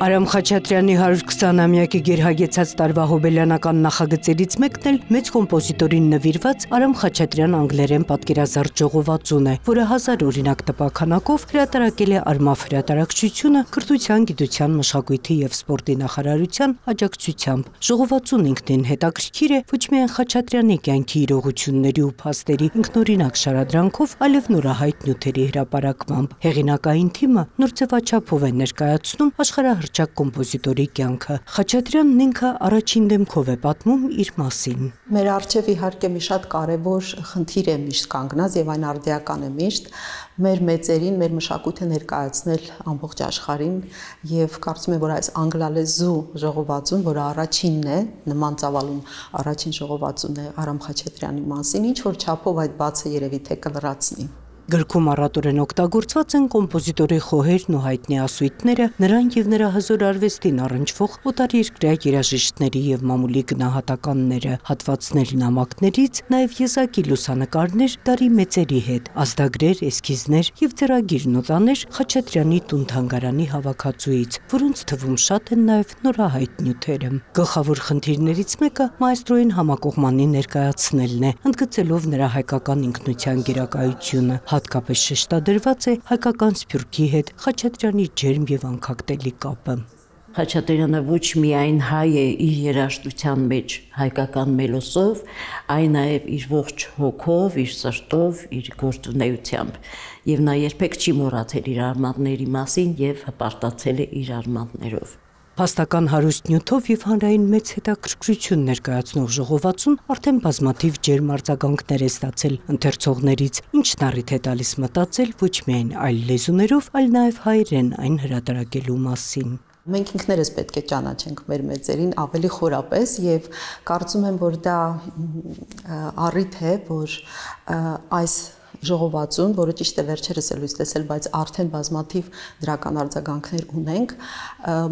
Արամ Խաչատրյանի 120-ամյակի գերհագեցած տարվա հոբելյանական նախագծերից մեկն էլ մեծ կոմպոզիտորին նվիրված Արամ Խաչատրյան անգլերեն պատկերազարդ ժողովածուն է, որը 1000 օրինակ տպաքանակով հրատարակել է Արմավ հրատարակչությունը Կրթության, գիտության, մշակույթի և սպորտի նախարարության աջակցությամբ։ Ժողովածուն ինքնին հետաքրքիր է ոչ միայն Խաչատրյանի կյանքի իրողությունների ու փաստերի ինքնօրինակ շարադրանքով, այլև նորահայտ նյութերի հրապարակմամբ։ Հեղինակային թիմը նոր ձևաչափով է ներկայացնում աշխարհահռչակ կոմպոզիտորի կյանքը։ Խաչատրյանն ինքը առաջին դեմքով է պատմում իր մասին։ Մեր առջև իհարկե մի շատ կարևոր խնդիր է միշտ կանգնած եւ այն արդիական է միշտ մեր մեծերին, մեր մշակույթը ներկայացնել ամբողջ աշխարհին եւ կարծում եմ, որ այս անգլալեզու ժողովածուն, որը առաջինն է, նման ծավալուն առաջին ժողովածուն է Արամ Խաչատրյանի մասին, ինչ որ չափով այդ բացը երևի թե կլրացնի։ Գրքում առատորեն օգտագործված են կոմպոզիտորի խոհերն ու հայտնի ասույթները, նրան եւ նրա հզոր արվեստին առնչվող օտարերկրյա երաժիշտների եւ մամուլի գնահատականները, հատվածներ նամակներից, նաեւ եզակի լուսանկարներ դարի մեծերի հետ, ազդագրեր, էսքիզներ եւ ձեռագիր նոտաներ Խաչատրյանի տուն-թանգարանի հավաքածուից, որոնց թվում շատ են նաեւ նորահայտ նյութերը։ Գլխավոր խնդիրներից մեկը մայստրոյին համակողմանի ներկայացնելն է, ընդգծելով նրա հայկական ինքնության գերակայությունը։ Հատկապես շեշտադրված է հայկական սփյուռքի հետ Խաչատրյանի ջերմ եւ անքակտելի կապը։ Խաչատրյանը ոչ միայն հայ է իր երաժշտության մեջ հայկական մելոսով, այլ նաև իր ողջ հոգով, իր սրտով, իր գործունեությամբ։ Եվ նա երբեք չի մոռացել իր արմատների մասին եւ հպարտացել է իր արմատներով։ Փաստական հարուստ նյութով եւ հանրային մեծ հետաքրքրություն ներկայացնող ժողովածուն արդեն բազմաթիվ ջերմ արձագանքներ է ստացել ընթերցողներից, ինչն առիթ է տալիս մտածել ոչ միայն այլ լեզուներով, այլ նաեւ հայերեն այն հրատարակելու մասին։ Մենք ինքներս պետք է ճանաչենք մեր մեծերին ավելի խորապես եւ կարծում եմ, որ դա առիթ է, որ այս ժողովածուն, որը ճիշտ է վերջերս է լույս տեսել, բայց արդեն բազմաթիվ դրական արձագանքներ ունենք,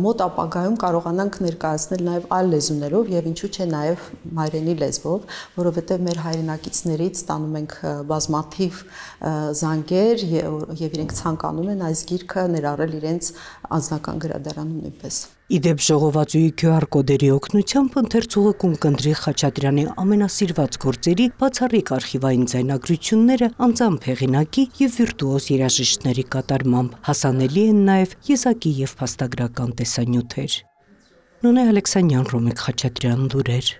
մոտ ապագայում կարողանանք ներկայացնել նաև այլ լեզուներով եւ ինչու՞ չէ նաև մայրենի լեզվով, որովհետեւ մեր հայրենակիցներից ստանում ենք բազմաթիվ զանգեր եւ իրենք ցանկանում են այս գիրքը ներառել իրենց անձնական գրադարանում նույնպես։ Իդեպ ժողովածուի QR կոդերի օգնությամբ ընթերցողը կընտրի Խաչատրյանի ամենասիրված գործերի բացառիկ արխիվային ձայնագրությունները անձամբ հեղինակի եւ վիրտուոզ երաժիշտների կատարմամբ, հասանելի են նաեւ եզակի եւ փաստագրական տեսանյութեր։ Նոնե Ալեքսանյան, Ռոմիկ Խաչատրյան, լուրեր։